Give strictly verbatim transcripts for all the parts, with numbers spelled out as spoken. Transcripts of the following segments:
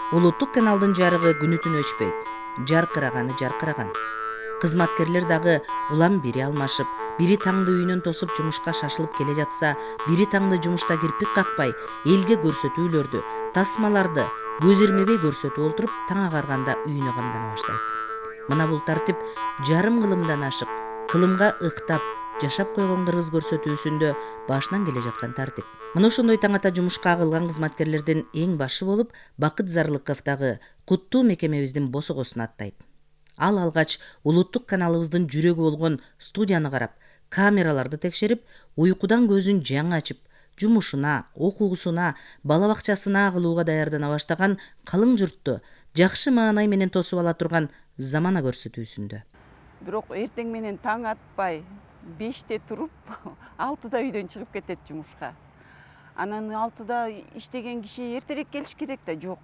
Улуттук каналдын жарыгы күнү түнү өчпөйт. Жаркыраганы жаркыраган. Кызматкерлер дагы улам бири алмашып, бири таңды үйүнөн тосуп жумушка шашылып келе жатса, бири таңды жумушта кирпик какпай, элге көрсөтүүлөрдү, тасмаларды көз ирмебей көрсөтүп олтуруп, таң агарганда үйүнө камдана баштайт. Мына бул тартип жарым кылымдан ашык, кылымга ыктап жашап койгон кыргыз көрсөтүүсүндө башынан келе жаткан тартип. Мына ошондой таң ата жумушка агылган кызматкерлердин эң башы болуп Бакыт Зарлыков дагы куттуу мекемебиздин босогосун аттайт. Ал алгач улуттук каналыбыздын жүрөгү болгон студияны карап, камераларды текшерип, уйкудан көзүн жаңы ачып, жумушуна, окуусуна, бала бакчасына агылууга даярдана баштаган калың журтту жакшы маанай менен тосуп ала турган замана көрсөтүүсүндө. Бирок эртең менен таң атпай, беште туруп, алтыда үйдөн чыгып кетет жумушка. Анан алтыда иштеген киши эртерээк келиш керек да, жок.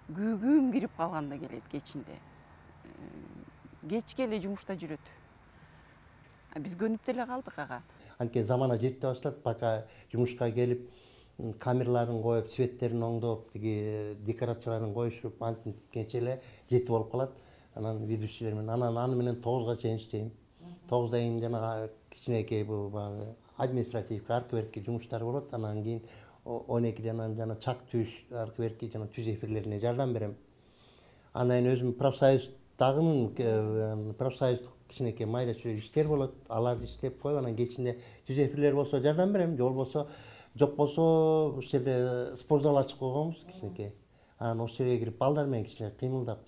Күгүм кирип калганда келет кечинде. Кечке эле жумушта жүрөт. Биз көнүп деле калдык ага. Анткени замана жете баштады, пока жумушка келип, камераларын коюп, светтерин оңдоп, тиги декорацияларын коюшуп, антип эле жети болуп калат. Анан ведущийлер менен, анан аны менен тогузга чейин иштейм. тогуздан кийин жанагы кичинекей бул баягы административдик аркы берки жумуштар болот. Анан кийин он экиден анан жана чак түз аркы берки жана түз эфирлерине жардам берем. Анан кийин өзүм профсоюздагымын, профсоюздук кичинекей майда чүйдө иштер болот. Аларды иштеп коюп, анан кечинде түз эфирлер болсо жардам берем, же болбосо жок болсо ушул жерде спортзал ачып койгонбуз кичинекей. Анан ошол жерге кирип балдар менен кичине кыймылдап.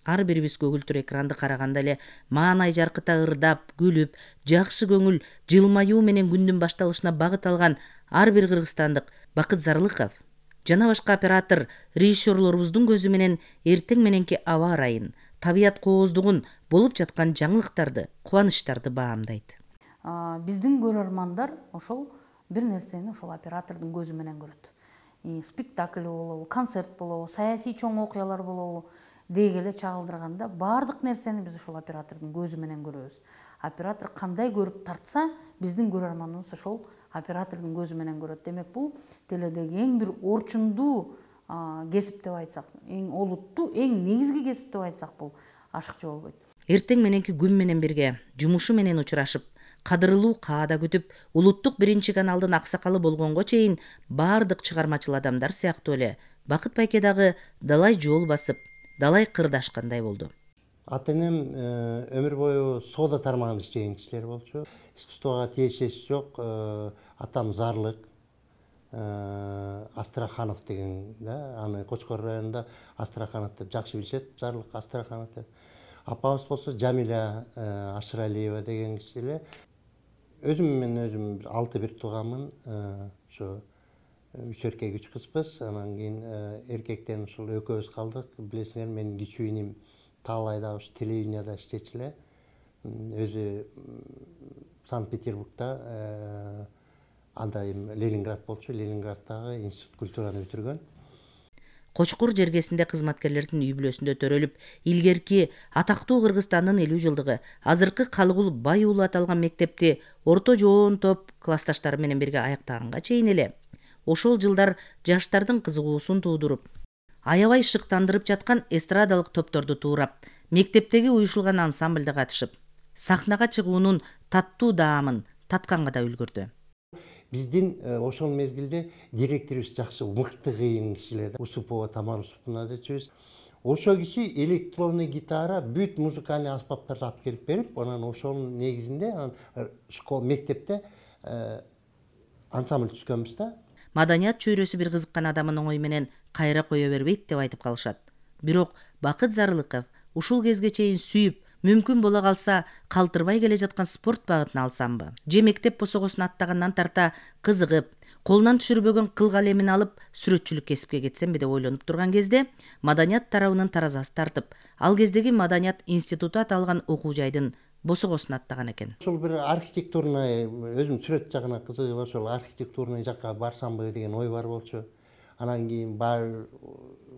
Ар бирибиз көгүлтүр экранды караганда эле маанай жаркыта ырдап, күлүп, жакшы көңүл, жылмаюу менен күндүн башталышына багыт алган ар бир кыргызстандык Бакыт Зарлыков жана башка оператор, режиссерлорубуздун көзү менен эртең мененки аба ырайын, табият кооздугун, болуп жаткан жаңылыктарды, кубанычтарды баамдайт. Биздин көрөрмандар ошол бир нерсени ошол оператордун көзү менен көрөт. Спектакль болобу, концерт болобу, саясий чоң окуялар болобу деги эле чагылдырганда баардык нерсени биз ошол оператордун көзү менен көрөбүз. Оператор кандай көрүп тартса, биздин көрөрманыбыз ошол оператордун көзү менен көрөт. Демек бул теледеги эң бир орчундуу кесип деп айтсак, эң олуттуу, эң негизги кесип деп айтсак, бул ашыкчы болбойт. Эртең мененки күн менен бирге жумушу менен учурашып, кадырлуу каада күтүп, улуттук биринчи каналдын аксакалы болгонго чейин баардык чыгармачыл адамдар сыяктуу эле Бакыт байке дагы далай жол басып, далай кырдашкандай болду. Ата-энем өмүр бою соода тармагында иштеген кишилер болчу. Искусствого тиешеси жок. Атам Зарлык Астраханов деген, да, аны Кочкор районунда Астраханов деп жакшы билишет, Зарлык Астраханов деп. Апабыз болсо Жамиля Ашыралиева деген киши эле. Өзүм мен өзүм алты бир тууганмын. Ошо үч эркек үч кызбыз. Анан кийин эркектен ушул экөөбүз калдык. Билесиңер, менин кичүү иним Таалайда ушу телевиденияда иштечү эле. Өзү Санкт-Петербургда анда Ленинград болчу, Ленинграддагы институт культураны бүтүргөн. Кочкур жергесинде кызматкерлердин үй бүлөсүндө төрөлүп, илгерки атактуу Кыргызстандын элүү жылдыгы, азыркы Калыгул Бай уулу аталган мектепти орто жоон топ классташтары менен бирге аяктаганга чейин эле ошол жылдар жаштардын кызыгуусун туудуруп, аябай шыктандырып жаткан эстрадалык топторду туурап, мектептеги уюшулган ансамбльде катышып, сахнага чыгуунун таттуу даамын татканга да үлгүрдү. Биздин ошол мезгилде директорубуз жакшы мыкты кыйын кишилер, Усупова Тамара Усуповна дечүбүз. Ошол киши электронный гитара, бүт музыкальный аспаптарды алып келип берип, анан ошонун негизинде школ мектепте ансамбль түзгөнбүз да. Маданият чөйрөсү бир кызыккан адамын оңой менен кайра кое бербейт деп айтып калышат. Бирок Бакыт Зарлыков ушул кезге чейин сүйүп, мүмкүн боло калса калтырбай келе жаткан спорт багытын алсамбы, же мектеп босогосун аттагандан тарта кызыгып, колунан түшүрбөгөн кыл калемин алып сүрөтчүлүк кесипке кетсемби деп ойлонуп турган кезде маданият тарабынын таразасы тартып, ал кездеги Маданият институту аталган окуу жайдын босогосун аттаган экен. Ошол бир архитектурный, өзүм сүрөт жагына кызыгып, ошол архитектурный жакка барсамбы деген ой бар болчу. Анан кийин бар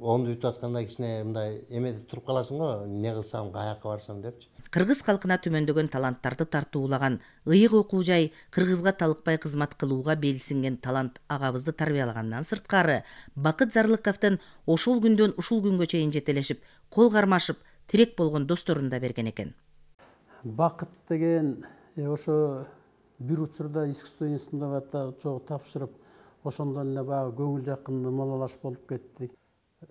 онду бүтүп атканда кичине мындай эмеде туруп каласың го, эмне кылсам, каяка барсам депчи. кыргыз калкына түмөндөгөн таланттарды тартуулаган ыйык окуу жай кыргызга талыкпай кызмат кылууга белсинген талант агабызды тарбиялагандан сырткары Бакыт Зарлыковдун ошол күндөн ушул күнгө чейин жетелешип, кол кармашып, тирек болгон досторун да берген экен. Бакыт деген ошо бир учурда искусство институтунда чогуу тапшырып, ошондон эле баягы көңүл жакын ымалалаш болуп кеттик.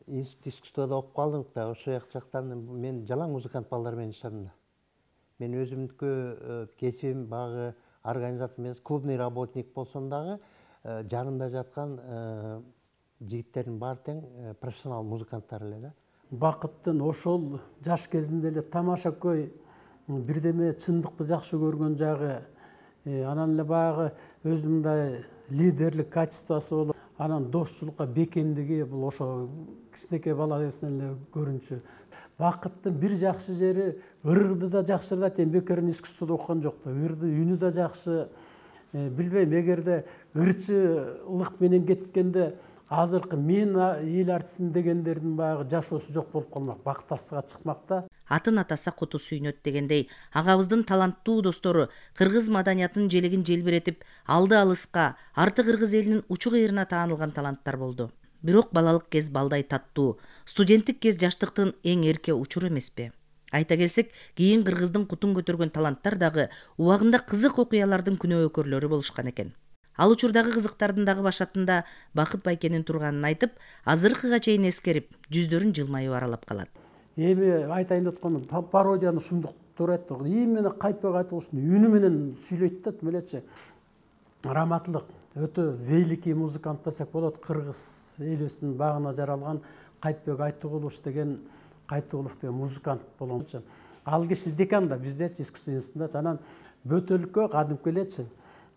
Институт искусствода окуп калдык да, ошол жактан мен жалаң музыкант балдар менен иштедим да. Мен өзүмдүкү кесибим баягы организация эмес, клубный работник болсом дагы жанымда жаткан жигиттердин баары тең профессионал музыканттар эле да. Бакыттын ошол жаш кезинде эле тамашакөй бирдеме чындыкты жакшы көргөн жагы, анан эле баягы өзүнүн мындай лидерлик качествосу болуп, анан достчулукка бекемдиги бул ошо кичинекей бала кезинен эле көрүнчү. Бакыттын бир жакшы жери ырды да жакшырдат, эми бекерин искусствода окуган жок да. Ырды үнү да жакшы. Билбейм, эгерде ырчылык менен кеткенде азыркы мен эл артистмин дегендердин баягы жашоосу жок болуп калмак, бактастыкка чыкмак да. Атын атаса куту сүйнөт дегендей, агабыздын таланттуу достору кыргыз маданиятынын желегин желбиретип, алды алыска, арты кыргыз элинин учу кыйрына таанылган таланттар болду. Бирок балалык кез балдай таттуу, студенттик кез жаштыктын эң эрке учуру эмеспи? Айта келсек, кийин кыргыздын кутун көтөргөн таланттар дагы убагында кызык окуялардын күнөөкөрлөрү болушкан экен. Ал учурдагы кызыктардын дагы башатында Бакыт байкенин турганын айтып, азыркыга чейин эскерип, жүздөрүн жылмаюу аралап калат. Эми айтайын деп атканым, пародияны шумдуктуур айтты. Именно Кайпбек Айтылышевдин үнү менен сүйлөйт да, мелечи. Раматлык, өтө великий музыкант десек болот, кыргыз элибиздин багына жаралган Кайпбек Айтылыш деген Айтылыш деген музыкант болгончу. Ал киши декан да, биздечи искусство институтунда, анан бөтөлүккө кадимки элечи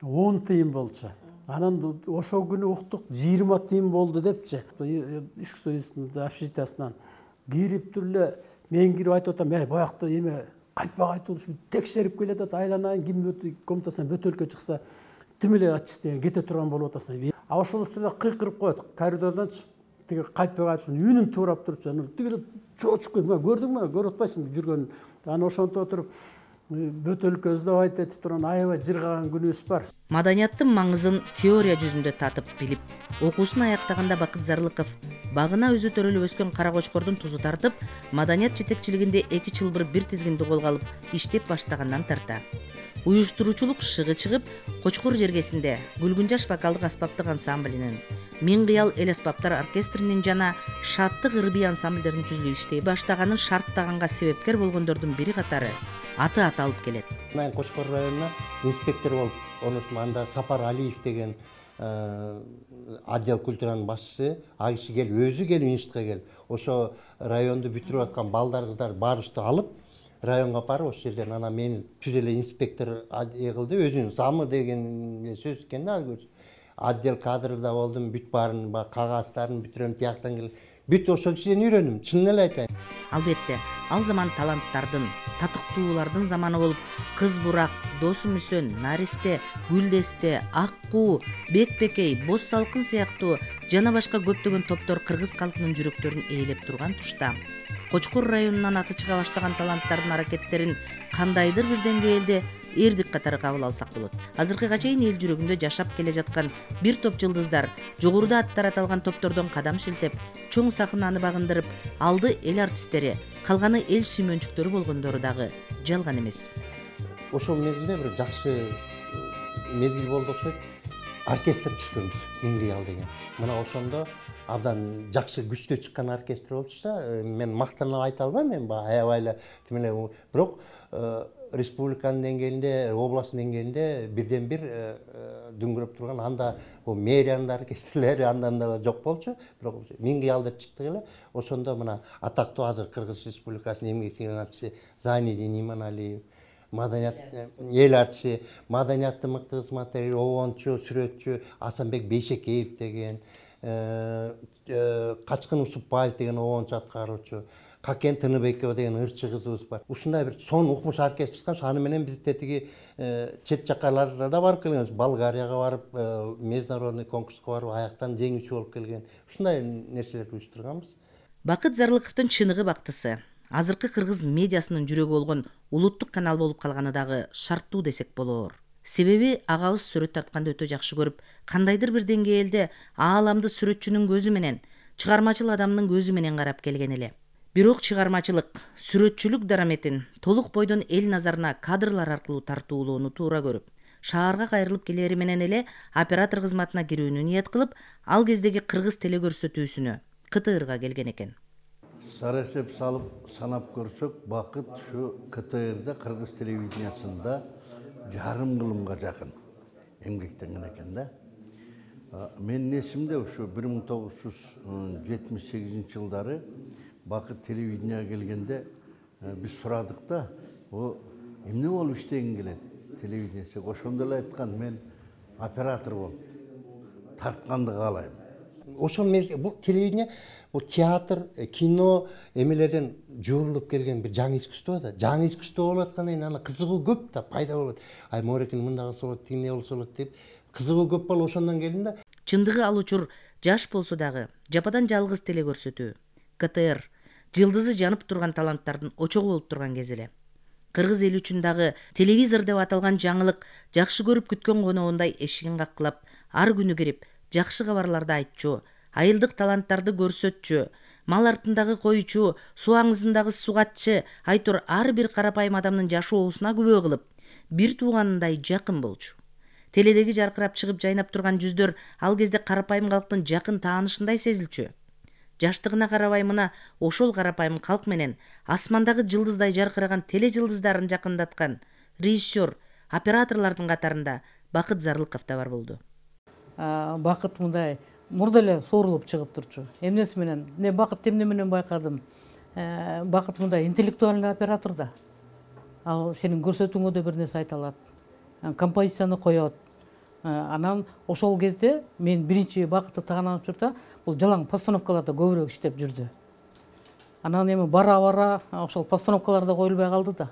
он тыйын болчу. Анан ошол күнү уктук жыйырма тыйын болду депчи. Искусство институтунун общежитиясынан кирип эле мен кирип айтып атам, "Эй, боякта эме Кайпбек Айтылыш текшерип келет, айланайын, ким комнатасынан бөтөлкө чыкса, тим эле ачты кете турган болуп атасың." А ошол учурда кыйкырып коет, коридордон тиги Кайпбек Айтылыштын үнүн туурап турчу. Анан тиги чочуп койт, "Көрдүңбү, көрүп атпайсыңбы жүргөнүн?" Анан ошентип отуруп бөтөлкө издабайт этип турган аябай жыргаган күнүбүз бар. Маданияттын маңызын теория жүзүндө татып билип, окуусун аяктаганда Бакыт Зарлыков багына өзү төрөлүп өскөн Кара Кочкордун тузу тартып, маданият жетекчилигинде эки чылбыр бир тизгинди колго алып иштеп баштагандан тарта. Уюштуруучулук шыгы чыгып, Кочкор жергесинде Гүлгүнжаш вокалдык аспаптык ансамблинин, Миң кыял эл аспаптар оркестринин жана Шаттык ырбий ансамблдерин түзүлүп иштей баштаганын шарттаганга себепкер болгондордун бири катары аты аталып келет. Мен Кочкор районуна инспектор болуп, онусун анда Сапар Алиев деген отдел культуранын башчысы, ал киши келип, өзү келип институтка келип, ошо районду бүтүрүп аткан балдар кыздар баарыбызды алып, районго барып, ошол жерден анан мени түз эле инспектор кылды, өзүнүн замы деген сөз экен да, отдел кадрда болдум, бүт баарын кагаздарын бүтүрөм, тияктан келип, бүт ошол кишиден үйрөндүм, чынын эле айтайын. Албетте, ал заман таланттардын, татыктуулардын заманы болуп, Кыз Бурак, Досу Мүсөн, Наристе, Гүлдесте, Аккуу, Бекбекей, Боз Салкын сыяктуу жана башка көптөгөн топтор кыргыз калкынын жүрөктөрүн ээлеп турган тушта Кочкор районунан аты чыга баштаган таланттардын аракеттерин кандайдыр бир деңгээлде эрдик катары кабыл алсак болот. Азыркыга чейин эл жүрөгүндө жашап келе жаткан бир топ жылдыздар жогоруда аттары аталган топтордон кадам шилтеп, чоң сахнаны багындырып, алды эл артисттери, калганы эл сүймөнчүктөрү болгондору дагы жалган эмес. Ошол мезгилде бир жакшы мезгил болду окшойт. Оркестр түшкөнбүз, Миң кыял деген. Мына ошондо абдан жакшы күчтүү чыккан оркестр болчу. Мен мактанып айта албайм, мен аябай эле тим эле, бирок республиканын деңгээлинде, областтын деңгээлинде бирден бир дүңгүрөп турган, анда мэриянын оркестрлери андан да жок болчу, бирок Миң кыял деп чыктык эле. Ошондо мына атактуу азыр Кыргыз Республикасынын эмгек сиңирген артисти Зайнидин Иманалиев, маданият эл артисти, маданияттын мыкты кызматкери, обончу, сүрөтчү Асанбек Бейшекеев деген, Качкын Усупбаев деген обончу аткаруучу, Какен Тыныбекова деген ырчы кызыбыз бар. Ушундай бир чоң укмуш оркестр чыккан, аны менен биз тетиги чет жаккаларга да барып келген, Болгарияга барып, международный конкурска барып, аяктан жеңүүчү болуп келген. Ушундай нерселерди уюштурганбыз. Бакыт Зарлыковдун чыныгы бактысы. азыркы кыргыз медиасынын жүрөгү болгон улуттук канал болуп калганы дагы шарттуу десек болоор. Себеби агабыз сүрөт тартканды өтө жакшы көрүп, кандайдыр бир деңгээлде ааламды сүрөтчүнүн көзү менен, чыгармачыл адамдын көзү менен карап келген эле. Бирок чыгармачылык, сүрөтчүлүк дараметин толук бойдон эл назарына кадрлар аркылуу тартуулоону туура көрүп, шаарга кайрылып келери менен эле оператор кызматына кирүүнү ниет кылып, ал кездеги кыргыз телекөрсөтүүсүнө К Т Рга келген экен. Сара эсеп салып санап көрсөк, Бакыт ушу К Т Рда кыргыз телевидениясында жарым кылымга жакын эмгектенген экен да. Менин эсимде ушу бир миң тогуз жүз жетимиш сегизинчи жылдары Бакыт телевиденияга келгенде биз сурадык да, о эмне болуп иштегин келет телевидениеси. Ошондо эле айткан, мен оператор болуп тартканды каалайм. Ошол бул телевидение, бул театр, кино эмелерден жуурулуп келген бир жаңы искусство да. Жаңы искусство болуп аткандан кийин ана кызыгуу көп да, пайда болот. Ай морекин мындай кылса болот, тигине болсо болот деп кызыгуу көп болуп ошондон келдим да. Чындыгы ал учур жаш болсо дагы жападан жалгыз телекөрсөтүү, К Т Р жылдызы жанып турган таланттардын очогу болуп турган кез эле. Кыргыз эли үчүн дагы телевизор деп аталган жаңылык жакшы көрүп күткөн коногундай эшигин каккылап, ар күнү кирип, жакшы кабарларды айтчу, айылдык таланттарды көрсөтчү, мал артындагы койчу, суу аңызындагы сугатчы, айтор ар бир карапайым адамдын жашоосуна күбө кылып, бир тууганындай жакын болчу. Теледеги жаркырап чыгып жайнап турган жүздөр ал кезде карапайым калктын жакын таанышындай сезилчү. Жаштыгына карабай мына ошол карапайым калк менен асмандагы жылдыздай жаркыраган теле жылдыздарын жакындаткан режиссер, операторлордун катарында Бакыт Зарлыков да бар болду. Бакыт мындай мурда эле соорулуп чыгып турчу. Эмнеси менен? Не Бакыт эмне менен байкадым? Бакыт мындай интеллектуальный оператор да. Ал сенин көрсөтүүңө да бир нерсе айта алат. Композицияны коет. Анан ошол кезде мен биринчи Бакытты тааныган учурда бул жалаң постановкаларда көбүрөөк иштеп жүрдү. Анан эми бара-бара ошол постановкаларда коюлбай калды да.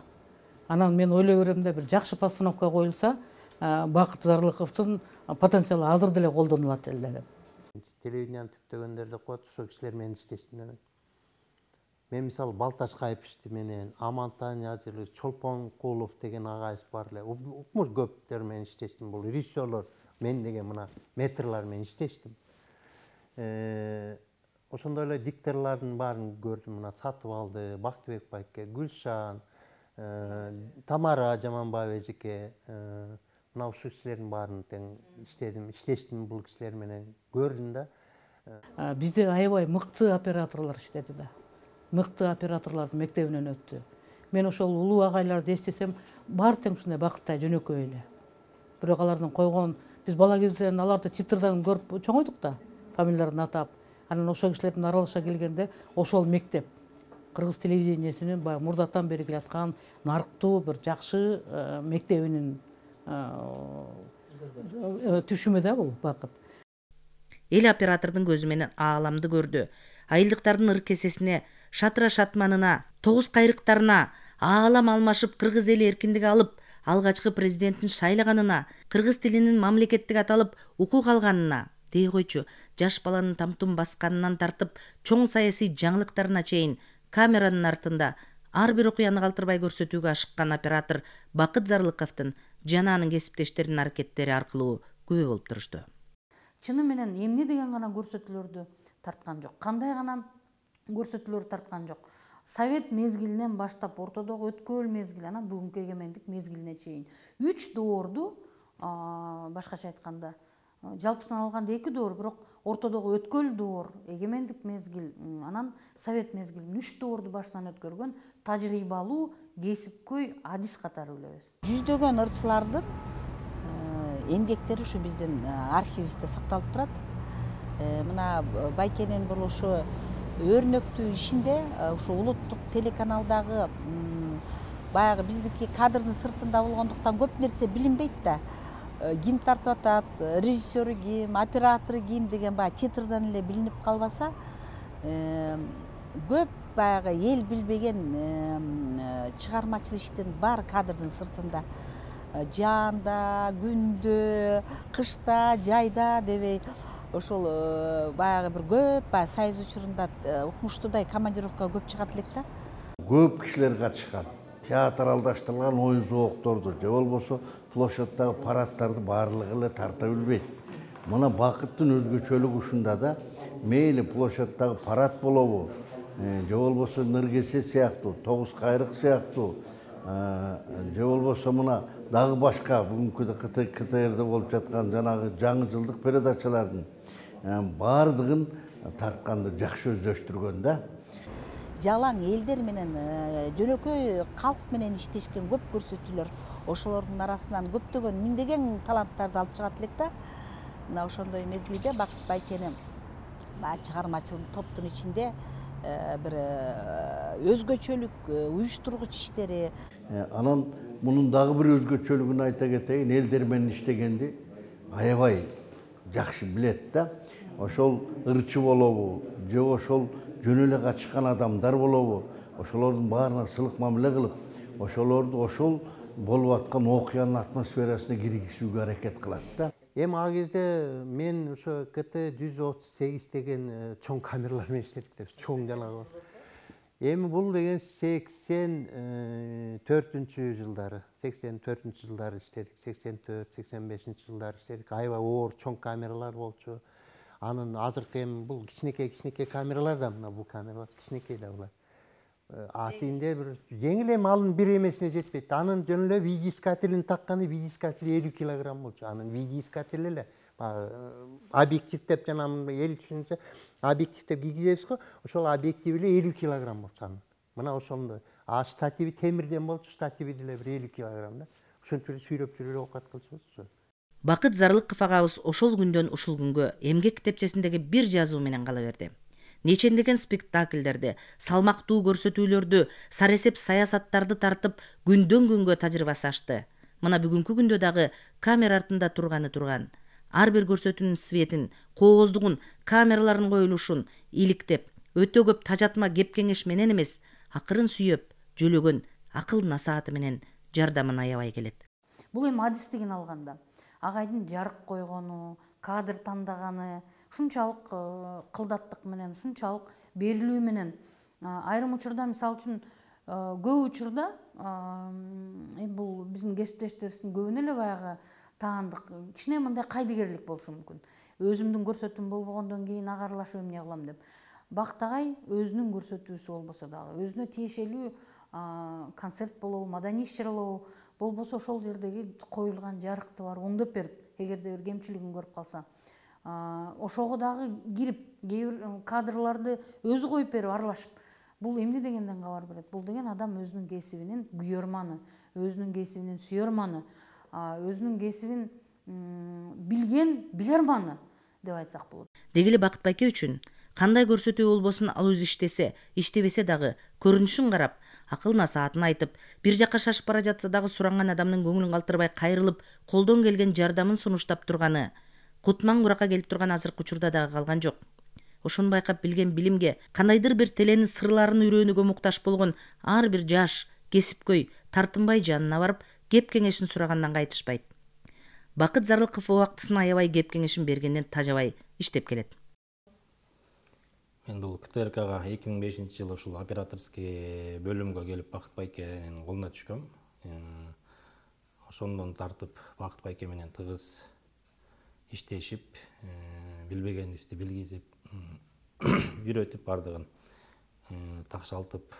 Анан мен ойлой берем да, бир жакшы постановка коюлса, Бакыт Зарлыковдун потенциалы азыр деле колдонулат эле деп. Телевиденияны түптөгөндөр деп коет, ошол кишилер менен иштештим мен. Мен мисалы Балташ Кайыпичти менен, Амантан Язырлы, Чолпон Кулов деген агайыбыз бар эле. Укмуш көптөр менен иштештим. Бул режиссерлор мен деген мына метрлар менен иштештим. Ошондой эле дикторлордун баарын көрдүм. Мына Сатыбалды, Бактыбек байке, Гүлшан, Тамара Жаманбаева эжеке, мына ушул кишилердин баарын тең иштедим, иштештим бул кишилер менен, көрдүм да. Бизде аябай мыкты операторлор иштеди да. Мыкты операторлордун мектебинен өттү. Мен ошол улуу агайларды эстесем, баары тең ушундай Бакыттай жөнөкөй эле. Бирок алардын койгон, биз бала кезден аларды титрден көрүп чоңойдук да, фамилияларын атап. Анан ошол кишилердин аралаша келгенде ошол мектеп кыргыз телевидениясынын баягы мурдатан бери келаткан нарыктуу бир жакшы мектебинин түшүмү да бул Бакыт. Эл оператордун көзү менен ааламды көрдү. Айылдыктардын ыркесесине, шатыра шатманына, тогуз кайрыктарына, аалам алмашып кыргыз эли эркиндик алып, алгачкы президенттин шайлаганына, кыргыз тилинин мамлекеттик аталып укук алганына, дей койчу, жаш баланын тамтун басканынан тартып, чоң саясий жаңылыктарына чейин камеранын артында ар бир окуяны калтырбай көрсөтүүгө ашыккан оператор Бакыт Зарлыковдун жана анын кесиптештеринин аракеттери аркылуу күбө болуп турушту. Чыны менен эмне деген гана көрсөтүүлөрдү тарткан жок, кандай гана көрсөтүүлөр тарткан жок. Совет мезгилинен баштап ортодогу өткөл мезгил, анан бүгүнкү эгемендик мезгилине чейин үч доорду, башкача айтканда, жалпысынан алганда эки доор, бирок ортодогу өткөл доор, эгемендик мезгил, анан совет мезгилин үч доорду башынан өткөргөн тажрыйбалуу, кесипкөй адис катары билебиз. Жүздөгөн ырчылардын эмгектери ушу биздин архивибизде сакталып турат. Мына байкенин бул ушу өрнөктүү ишинде ушу улуттук телеканалдагы баягы биздики кадрдын сыртында болгондуктан көп нерсе билинбейт да. Ким тартып атат, режиссеру ким, оператору ким деген баягы титрден эле билинип калбаса, көп баягы эл билбеген чыгармачыл иштин баары кадрдын сыртында. Жаанда, күндө, кышта, жайда дебей ошол баягы бир көп баягы сайыз учурунда укмуштуудай командировкага көп чыгат элек да. көп кишилер катышкан. Театралдаштырылган ой зоокторду же болбосо площадьтагы парадтарды баардыгы эле тарта билбейт. Мына бакыттын өзгөчөлүгү ушунда да, мейли площадьтагы парад болобу, же болбосо Ныркесе сыяктуу, Тогуз Кайрык сыяктуу, же болбосо мына дагы башка бүгүнкү КТРде болуп жаткан жанагы жаңы жылдык передачалардын баардыгын тартканды жакшы өздөштүргөн да. Жалаң элдер менен, жөнөкөй калк менен иштешкен көп көрсөтүүлөр, ошолордун арасынан көптөгөн миңдеген таланттарды алып чыгат элек да. Мына ошондой мезгилде Бакыт Байкенин чыгармачыл топтун ичинде бир өзгөчөлүк уюштургуч иштери. Анан мунун дагы бир өзгөчөлүгүн айта кетейин, элдер менен иштегенди аябай жакшы билет да. Ошол ырчы болобу, же ошол жөн эле качкан адамдар болобу, ошолордун баарына сылык мамиле кылып, ошолорду ошол болуп аткан окуянын атмосферасына киргизүүгө аракет кылат да. Эми ал кезде мен ошо КТ жүз отуз сегиз деген чоң камералар менен иштедик, чоң жанагы. Эми бул деген сексен төртүнчү жылдары, сексен төртүнчү жылдары иштедик, сексен төрт, сексен бешинчи жылдары иштедик. Аябай оор чоң камералар болчу. Анын азыркы эми бул кичинекей кичинекей камералар да, мына бул камералар кичинекей да булар. Атында бир жеңил, эми анын бир эмесине жетпейт. Анын жөн эле видеоискателин такканы, видеоискатель элүү килограмм болчу. Анын видеоискатель эле объектив деп жана эл түшүнчө объектив деп кийгизебиз го, ошол объектив эле элүү килограмм болчу анын. Мына ошондой. А штативи темирден болчу, штативи деле бир элүү килограмм да. Ошентип эле сүйрөп жүрүп оокат кылчубуз. Бакыт Зарылыков агабыз ошол күндөн ушул күнгө эмгек китепчесиндеги бир жазуу менен кала берди. Нечендеген спектакльдерди, салмактуу көрсөтүүлөрдү, саресеп саясаттарды тартып, күндөн күнгө тажрыйбасы ашты. Мына бүгүнкү күндө дагы камера артында турганы турган. Ар бир көрсөтүүнүн светин, кооздугун, камералардын коюлушун иликтеп, өтө көп тажатма кеп кеңеш менен эмес, акырын сүйөп, жөлөгөн акыл насааты менен жардамын аябай келет. Бул эми адистигин алганда агайдын жарык койгону, кадр тандаганы, ушунчалык кылдаттык менен, ушунчалык берилүү менен, айрым учурда мисалы үчүн көп учурда бул биздин кесиптештерибиздин көбүнө эле баягы таандык кичине мындай кайдыгерлик болушу мүмкүн. Өзүмдүн көрсөтүүм болбогондон кийин ага аралашып эмне кылам деп. Бакыт агай өзүнүн көрсөтүүсү болбосо дагы, өзүнө тиешелүү концерт болобу, маданий иш-чаралабы болбосо ошол жердеги коюлган жарыкты барып оңдоп берип, эгерде бир кемчилигин көрүп калса, ошого дагы кирип, кээ бир кадрларды өзү коюп берип аралашып, бул эмне дегенден кабар берет? Бул деген адам өзүнүн кесибинин күйөрманы, өзүнүн кесибинин сүйөрманы, өзүнүн кесибин билген билерманы деп айтсак болот. Деги эле Бакыт байке үчүн кандай көрсөтүү болбосун ал өзү иштесе, иштебесе дагы көрүнүшүн карап, акыл насаатын айтып, бир жакка шашып бара жатса дагы суранган адамдын көңүлүн калтырбай кайрылып, колдон келген жардамын сунуштап турганы, кутман куракка келип турган азыркы учурда дагы калган жок. Ошону байкап билген билимге, кандайдыр бир теленин сырларын үйрөнүүгө муктаж болгон ар бир жаш, кесипкөй, тартынбай жанына барып, кеп кеңешин сурагандан кайтышпайт. Бакыт Зарылыков убактысына аябай кеп кеңешин бергенден тажабай иштеп келет. Мен бул КТРКга эки миң бешинчи жылы ушул операторский бөлүмгө келип Бакыт байкенин колуна түшкөм. Ошондон тартып Бакыт байке менен тыгыз иштешип, билбегенибизди билгизип, үйрөтүп бардыгын такшалтып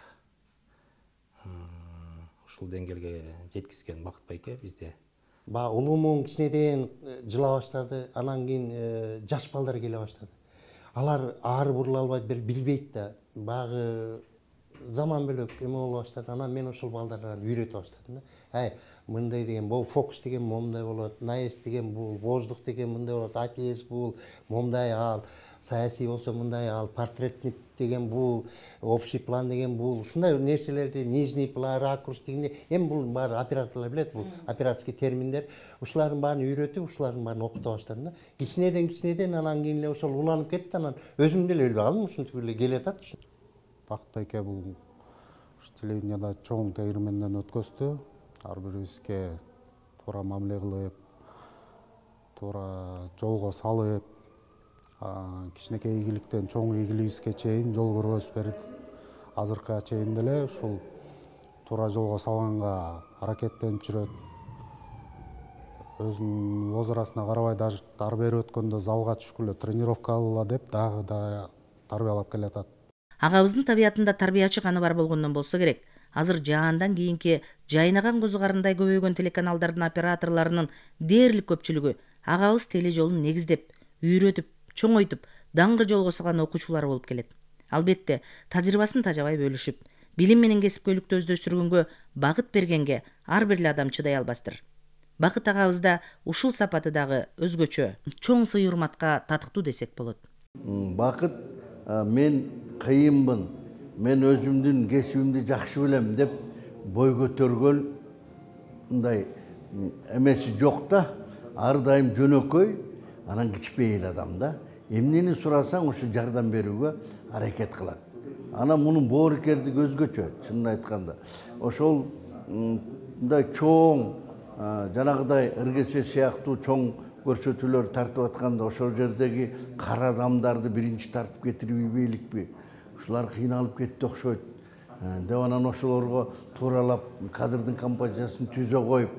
ушул деңгээлге жеткизген Бакыт байке бизде. Ба улуумун кичинеден жыла баштады, анан кийин жаш балдар келе баштады. Алар ары бурула албайт, билбейт да. Багы заман бөлөк эме боло баштады. Анан мен ошол балдарды үйрөтө баштадым да. Ай, мындай деген, бул фокус деген момундай болот, наезд деген бул, воздух деген мындай болот, атез бул, момундай ал, саясий болсо мындай ал, портретный деген бул, общий план деген бул, ушундай нерселерди, нижний план, ракурс деген, эми бул баары операторлор билет, бул операторский терминдер. Ушулардын баарын үйрөтүп, ушулардын баарын окута баштадым да. Кичинеден кичинеден анан кийин эле ошол уланып кетти, анан өзүм деле билбей калдым, ушинтип эле келатат. Бакыт байке бул ушу телевиденияда чоң тегирменден өткөздү. Ар бирибизге туура мамиле кылып, туура жолго салып, кичинекей ийгиликтен чоң ийгилигибизге чейин жол көргөзүп берди. азыркыга чейин деле ушул туура жолго салганга аракеттенип жүрөт. Өзүнүн возрастына карабай даже ары бери өткөндө залга түшкүлө тренировка кылгыла деп дагы да тарбиялап келатат. Агабыздын табиятында тарбиячы каны бар болгондон болсо керек. Азыр жаандан кийинки жайнаган козу карындай көбөйгөн телеканалдардын операторлорунун дээрлик көпчүлүгү агабыз теле жолун негиздеп, үйрөтүп, чоңойтуп, даңгы жолго салган окуучулар болуп келет. Албетте, тажрыйбасын тажабай бөлүшүп, билим менен кесипкөйлүктү өздөштүргөнгө багыт бергенге ар бир эле адам чыдай албастыр. Бакыт агабызда ушул сапаты дагы өзгөчө, чоң сый урматка татыктуу десек болот. Бакыт мен кыйынмын, мен өзүмдүн кесибимди жакшы билем деп бой көтөргөн мындай эмеси жок да, ар дайым жөнөкөй, анан кичпейил адам да. Эмнени сурасаң ошо жардам берүүгө аракет кылат. Анан мунун боорукердиги өзгөчө, чынын айтканда. Ошол мындай чоң, жанагыдай ыргесе сыяктуу чоң көрсөтүүлөр тартып атканда ошол жердеги кара адамдарды биринчи тартып кетирби бийликпи? Ушулар кыйналып кетти окшойт деп анан ошолорго тууралап кадрдын композициясын түзө коюп,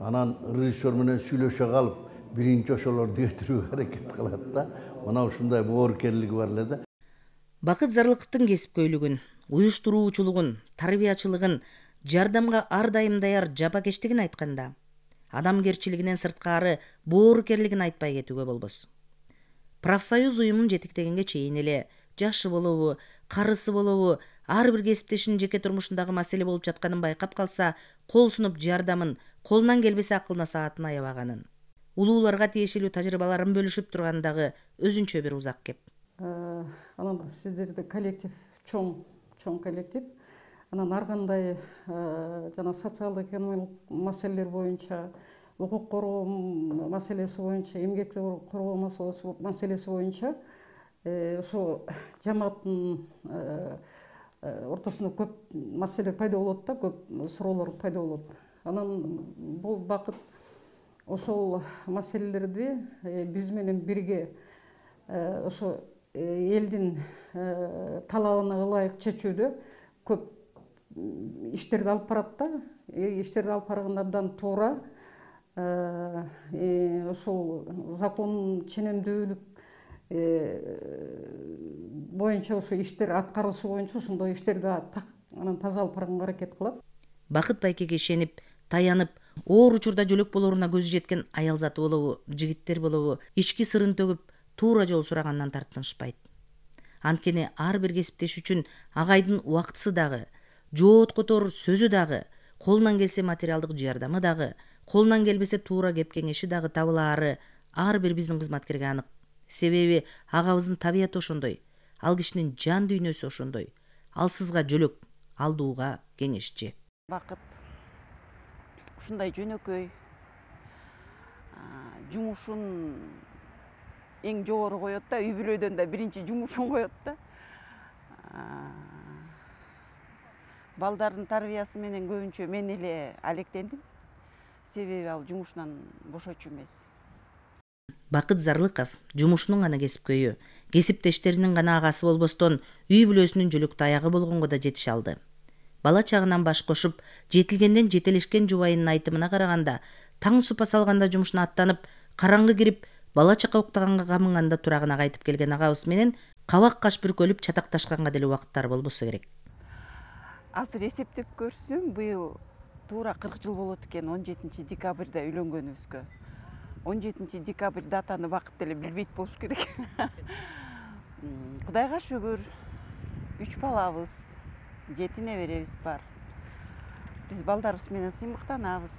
анан режиссер менен сүйлөшө калып, биринчи ошолорду кетирүүгө аракет кылат да. Мына ушундай боорукерлиги бар эле да. Бакыт Зарлыковдун кесипкөйлүгүн, уюштуруучулугун, тарбиячылыгын, жардамга ар дайым даяр жапакечтигин айтканда, адамгерчилигинен сырткары боорукерлигин айтпай кетүүгө болбос. Профсоюз уюмун жетектегенге чейин эле жашы болобу, карысы болобу, ар бир кесиптешинин жеке турмушундагы маселе болуп жатканын байкап калса, кол сунуп жардамын, колунан келбесе акыл насаатын аябаганын, улууларга тиешелүү тажрыйбаларын бөлүшүп турганы дагы өзүнчө бир узак кеп. Анан сиздерде коллектив, чоң, чоң коллектив. Анан ар кандай жана социалдык экономикалык маселелер боюнча, укук коргоо маселеси боюнча, эмгек коргоо маселеси боюнча ошо жамааттын ортосунда көп маселе пайда болот да, көп суроолор пайда болот. Анан бул Бакыт ошол маселелерди биз менен бирге ошо элдин талабына ылайык чечүүдө көп иштерди алып барат да. Иштерди алып барганда абдан туура, ошол закондун ченемдүүлүк боюнча ошо иштер аткарылышы боюнча ошондой иштерди анан таза алып барганга аракет кылат. Бакыт байкеге ишенип, таянып, оор учурда жөлөк болоруна көзү жеткен аял заты болобу, жигиттер болобу, ички сырын төгүп, туура жол сурагандан тартынышпайт. Анткени ар бир кесиптеш үчүн агайдын убактысы дагы, жооткотор сөзү дагы, колунан келсе материалдык жардамы дагы, колунан келбесе туура кеп кеңеши дагы табылаары ар бир биздин кызматкерге анык. Себеби агабыздын табияты ошондой, ал кишинин жан дүйнөсү ошондой. Ал сызга жөлөк, алдууга кеңешчи. Бакыт ушундай жөнөкөй, жумушун эң жогору коет да, үй бүлөдөн да биринчи жумушун коет да. Балдардын тарбиясы менен көбүнчө мен эле алектендим. Себеби ал жумушунан бошочу эмес. Бакыт Зарлыков жумушунун гана кесипкөйү, кесиптештеринин гана агасы болбостон, үй бүлөсүнүн жөлөктүү аягы болгонго да жетише алды. Бала чагынан баш кошуп, жетилгенден жетелешкен жубайынын айтымына караганда, таң супа салганда жумушуна аттанып, караңгы кирип, бала чака уктаганга камынганда турагына кайтып келген агабыз менен кабак каш бүркөлүп чатакташканга деле убакыттары болбосо керек. Азыр эсептеп көрсөм, быйыл туура кырк жыл болот экен он жетинчи декабрда үйлөнгөнүбүзгө. он жетинчи декабрь датаны Бакыт деле билбейт болуш керек. Кудайга шүгүр, үч балабыз, жети неберебиз бар. Биз балдарыбыз менен сыймыктанабыз.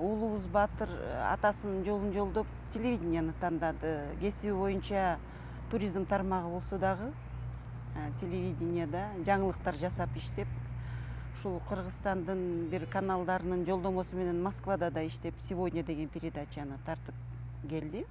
Уулубуз Батыр атасынын жолун жолдоп телевиденияны тандады. Кесиби боюнча туризм тармагы болсо дагы телевиденияда жаңылыктар жасап иштеп, ушул Кыргызстандын бир каналдарынын жолдомосу менен Москвада да иштеп, «Сегодня» деген передачаны тартып келди.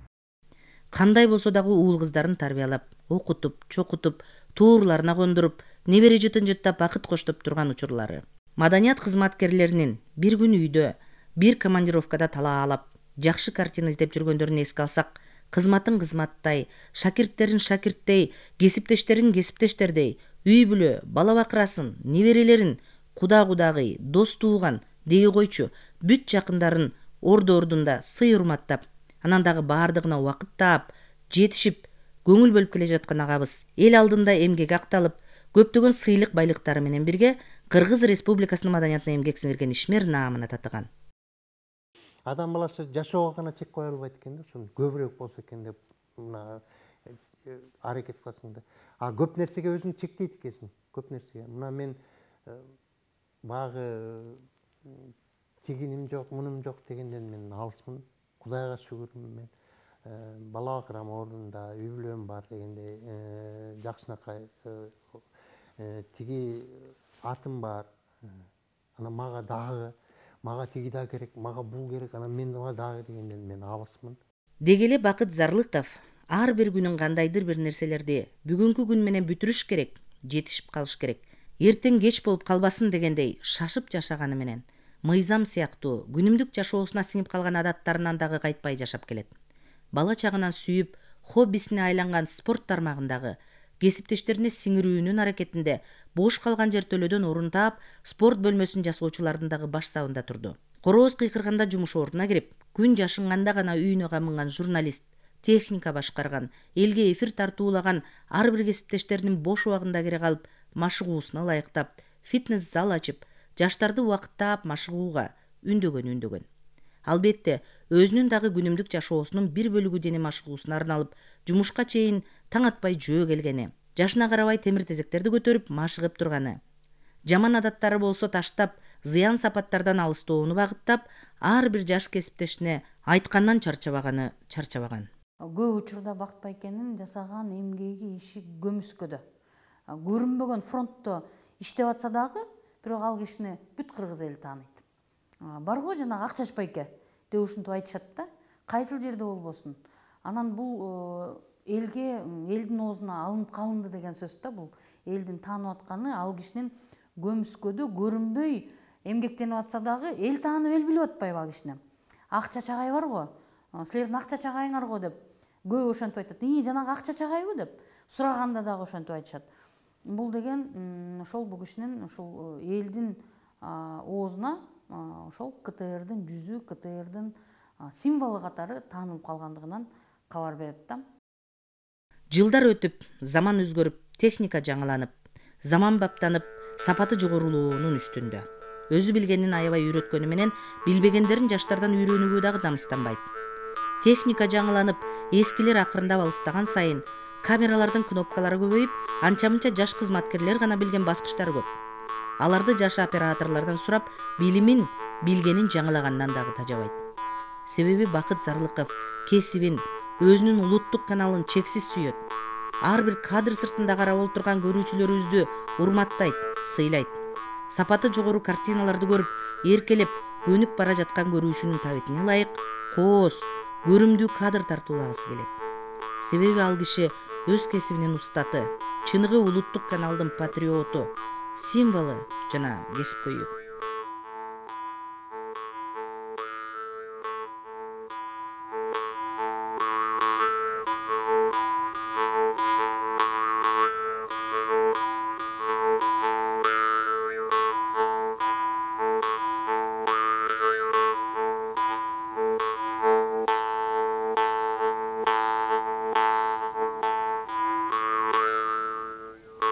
Кандай болсо дагы уул кыздарын тарбиялап, окутуп, чокутуп, туурларына кондуруп, небере жытын жыттап бакыт коштоп турган учурлары. Маданият кызматкерлеринин бир күн үйдө, бир командировкада талаалап, жакшы картина издеп жүргөндөрүн эске алсак, кызматын кызматтай, шакирттерин шакирттей, кесиптештерин кесиптештердей, үй бүлө, бала бакырасын, неберелерин, куда кудагый, дос тууган деги койчу бүт жакындарын орду ордунда сый урматтап, анан дагы баардыгына убакыт таап, жетишип, көңүл бөлүп келе жаткан агабыз эл алдында эмгек акталып, көптөгөн сыйлык байлыктары менен бирге Кыргыз Республикасынын маданиятына эмгек сиңирген ишмер наамына татыган. Адам баласы жашоого гана чек кое албайт экен да, ошону көбүрөөк болсо экен деп мына аракет кыласың да. А көп нерсеге өзүң чектейт экенсиң, көп нерсеге. Мына мен багы тигиним жок, мунум жок дегенден мен алысмын. Кудайга шүгүрмүн мен. Бала бакырам ордунда, үй бүлөм бар дегенде жакшынакай тиги атым бар. Анан мага дагы мага тиги да керек, мага бул керек, анан мен дагы дегенден мен алысмын. Деги эле Бакыт Зарлыков ар бир күнүн кандайдыр бир нерселерди бүгүнкү күн менен бүтүрүш керек, жетишип калыш керек. Эртең кеч болуп калбасын дегендей шашып жашаганы менен мыйзам сыяктуу күнүмдүк жашоосуна сиңип калган адаттарынан дагы кайтпай жашап келет. Бала чагынан сүйүп, хоббисине айланган спорт тармагындагы кесиптештерине сиңирүүнүн аракетинде бош калган жертөлөдөн орун таап, спорт бөлмөсүн жасоочулардын дагы баш сабында турду. Корооз кыйкырганда жумуш ордуна кирип, күн жашынганда гана үйүнө камынган журналист, техника башкарган, элге эфир тартуулаган ар бир кесиптештеринин бош убагында кире калып, машыгуусуна ылайыктап, фитнес зал ачып, жаштарды убакыттап машыгууга үндөгөн үндөгөн. Албетте, өзүнүн дагы күнүмдүк жашоосунун бир бөлүгү дене машыгуусуна арналып, жумушка чейин таң атпай жөө келгени, жашына карабай темир тезектерди көтөрүп машыгып турганы, жаман адаттары болсо таштап, зыян сапаттардан алыстоону багыттап, ар бир жаш кесиптешине айткандан чарчабаганы чарчабаган. Көп учурда Бакыт байкенин жасаган эмгеги иши көмүскөдө. Көрүнбөгөн фронтто иштеп атса дагы, бирок ал кишини бүт кыргыз эли тааныйт. Барго жанагы Акчаш байке деп ушинтип айтышат да, кайсыл жерде болбосун. Анан бул элге, элдин оозуна алынып калынды деген сөз да, бул элдин таанып атканы, ал кишинин көмүскөдө көрүнбөй эмгектенип атса дагы эл таанып, эл билип атпайбы ал кишини. Акчаш агай барго, силердин Акчаш агайыңар го деп көп ошентип айтат. И, жанагы Акчаш агайбы деп сураганда дагы ошентип айтышат. Бул деген ошол бул кишинин ушул элдин оозуна ошол КТРдин жүзү, КТРдин символу катары таанылып калгандыгынан кабар берет да. Жылдар өтүп, заман өзгөрүп, техника жаңыланып, заман баптанып, сапаты жогорулоонун үстүндө. Өзү билгенин аябай үйрөткөнү менен билбегендерин жаштардан үйрөнүүгө дагы намыстанбайт. Техника жаңыланып, эскилер акырындап алыстаган сайын камералардын кнопкалары көбөйүп, анча-мынча жаш кызматкерлер гана билген баскычтар көп. Аларды жаш операторлордон сурап, билимин, билгенин жаңылагандан дагы тажабайт. Себеби Бакыт Зарлыков кесибин, өзүнүн улуттук каналын чексиз сүйөт. Ар бир кадр сыртында карап отурган көрүүчүлөрүбүздү урматтайт, сыйлайт. Сапаты жогору картиналарды көрүп, эркелеп, көнүп бара жаткан көрүүчүнүн табитине ылайык кооз, көрүмдүү кадр тартуулагысы келет. Себеби ал киши өз кесибинин устаты, чыныгы улуттук каналдын патриоту, символу жана кесипкөйү.